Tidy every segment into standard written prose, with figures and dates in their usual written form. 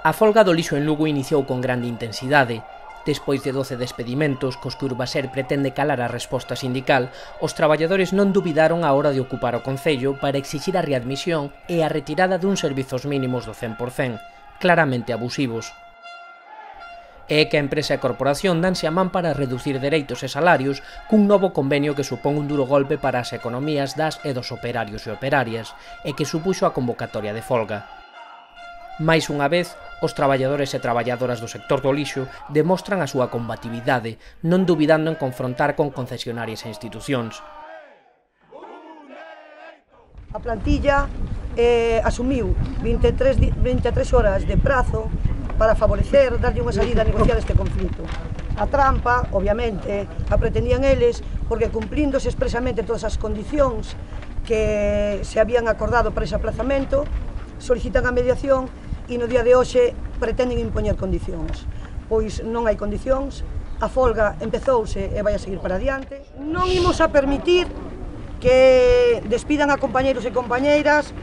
A folga do lixo en Lugo iniciou con grande intensidade. Despois de 12 despedimentos, cos que Urbaser pretende calar a resposta sindical, os traballadores non dubidaron á hora de ocupar o Concello para exixir a readmisión e a retirada duns servizos mínimos do 100%, claramente abusivos. É que a empresa e a corporación danse a man para reducir dereitos e salarios cun novo convenio que supón un duro golpe para as economías das e dos operarios e operarias, e que supuxo a convocatoria de folga. Mais unha vez, os traballadores e traballadoras do sector do lixo demostran a súa combatividade, non dubidando en confrontar con concesionarias e institucións. A plantilla asumiu 23 horas de prazo para favorecer, darlle unha salida a negociar este conflito. A trampa, obviamente, a pretendían eles, porque cumplíndose expresamente todas as condicións que se habían acordado para ese aplazamento, solicitan a mediación e no día de hoxe pretenden impoñer condicións. Pois non hai condicións, a folga empezouse e vai a seguir para adiante. Non imos a permitir que despidan a compañeiros e compañeiras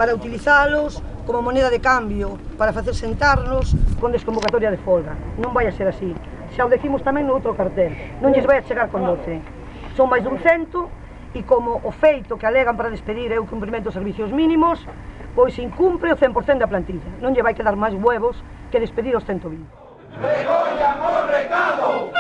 para utilizalos como moneda de cambio, para facer sentarnos con desconvocatoria de folga. Non vai a ser así. Xa o decimos tamén no outro cartel. Non lles vai a chegar con 12. Son máis dun 100 e como o feito que alegan para despedir é o cumprimento dos servicios mínimos, pois incumpre o 100% da plantilla. Non lle vai quedar máis huevos que despedir os 120. ¡Recollan o recado!